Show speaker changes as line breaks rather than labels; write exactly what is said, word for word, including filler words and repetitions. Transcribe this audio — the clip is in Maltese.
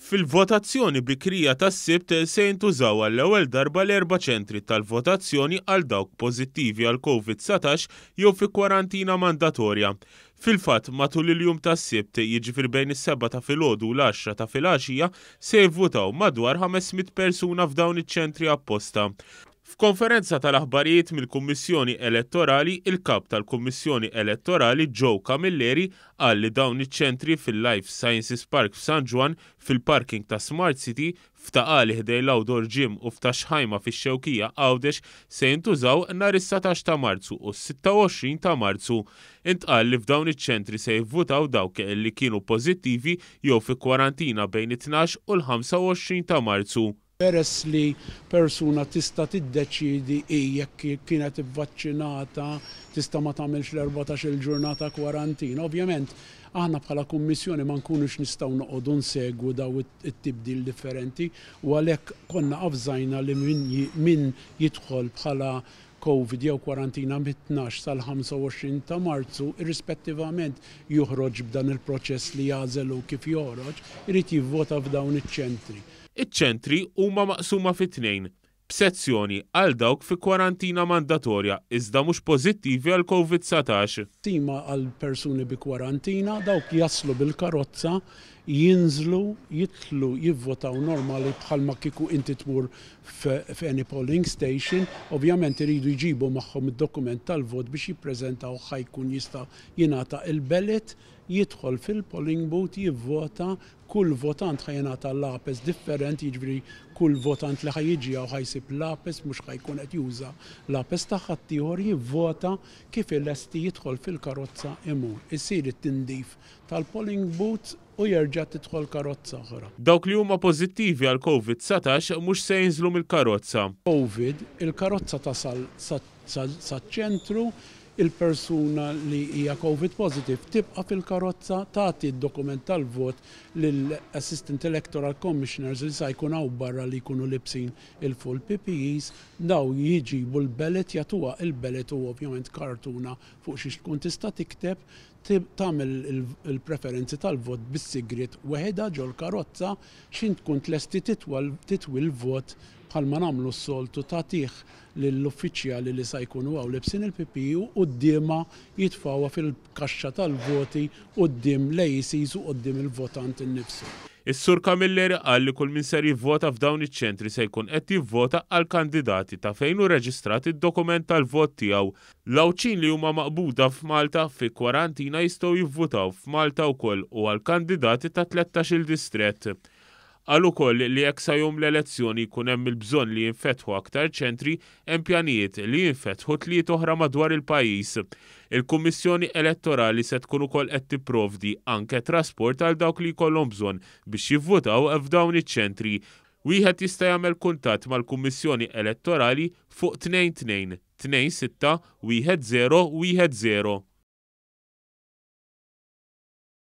Fil-votazzjoni bikrija tas-Sibt se jintużaw għall-ewwel darba l-erba' ċentri tal-votazzjoni għal dawk pożittivi għal Covid dsatax jew fi kwarantina mandatorja. Fil-fatt, matul il-jum tas-Sibt, jiġifieri bejn is-sebgħa ta' filgħodu u l-għaxra ta' filgħaxija, se jivvutaw madwar ħames mitt persuna f'dawn iċ-ċentri apposta. F'konferenza tal-aħbarijiet mill-Kummissjoni Elettorali, il-kap tal-Kummissjoni Elettorali Joe Camilleri qal li dawn iċ-ċentri fil-Life Sciences Park f'San Ġwann, fil-parking ta' Smart City, f'Ta' Qali ħdejn l-Outdoor Gym u f'Ta' Xħajma fix-Xewkija Għawdex se jintużaw nhar is-satax ta' Marzu u s-sitta u għoxrin ta' Marzu. Intqal li f'dawn iċ-ċentri se jivvutaw dawk li kienu pożittivi jew fi kwarantina bejn it-tnax u l-ħamsa u għoxrin ta' Marzu.
Peress li persuna tista' tiddeċidi hi jekk kienet ivvaċċinata, tista' ma tagħmilx l-erbatax il-ġurnata kwarantina. Ovvjament, aħna bħala kummissjoni ma nkunux nistgħu noqogħdu nsegwu daw it-tibdil differenti u għalhekk konna avżajna li min jidħol bħala Covid jew kwarantina mit-tnax sal-ħamsa u għoxrin ta' Marzu, irrispettivament joħroġ b'dan il-proċess li jagħżel kif joħroġ, irid jivvota f'dawn iċ-ċentri.
Iċ-ċentri huma maqsuma fi tnejn, b'sezzjoni għal dawk fi kwarantina mandatorja iżda mhux pożittivi għal Covid dsatax.
Tima għal persuni bi kwarantina, dawk jaslu bil-karozza, jinżlu, jidħlu, jivvotaw normali bħalma kieku inti tmur f'any polling station. Ovvjament iridu jġibu magħhom id-dokument tal-vot biex jippreżentaw, ħa jkun jista' jingħata il-ballot, jidħol fil-polling booth, jivvota. Kull votant ħa jingħata lapes differenti, jiġifieri kull votant li ħa jiġi hawn ħa jsib lapes, mhux ħa jkun qed juża lapes ta' ħaddieħor. Jivvota, kif ilesti jidħol fil-karozza imur. Isir it-tindif tal-polling booth u jerġa' tidħol karozza oħra.
Dawk li huma pożittivi għal Covid dsatax mhux se jinżlu mill-karozza.
Covid, il-karozza tasal sa ċentru, il-persuna li hija Covid positive tibqa' fil-karozza, tagħti d-dokument tal-vot lill-Assistant Electoral Commissioners li sa jkun hawn barra li jkunu libsin il-full P P Es. Daw jiġibu l-ballot, jagħtuha il-ballot u ovvjament kartuna fuq xiex tkun tista' tikteb, tagħmel il-preferenzi tal-vot bis-sigriet weħidha ġol-karozza. X'ħin tkun tlesti titwi l-vot bħalma nagħmlu s-soltu, tagħtih lill-uffiċjali li sa jkunu hawn libsin il-P P E u quddiemha jitfgħuha fil-kaxxa tal-voti quddiem l-A E Cs u quddiem il-votant innifsu.
Is-Sur Camilleri qal li kull min ser jivvota f'dawn iċ-ċentri se jkun qed jivvota għal kandidati ta' fejn hu reġistrat id-dokument tal-vot tiegħu. L-Għawdxin li huma maqbuda f'Malta fi kwarantina jistgħu jivvutaw f'Malta wkoll u għal kandidati ta' tlettax-il distrett. Qal ukoll li jekk sa jum l-elezzjoni jkun hemm il-bżonn li jinfetħu aktar ċentri, hemm pjanijiet li jinfetħu tliet oħra madwar il-pajjiż. Il-Kummissjoni Elettorali se tkun ukoll qed tipprovdi anke trasport għal dawk li jkollhom bżonn biex jivvutaw f'dawn iċ-ċentri. Wieħed jista' jagħmel kuntatt mal-Kummissjoni Elettorali fuq tnejn tnejn tnejn sitta wieħed żero wieħed żero.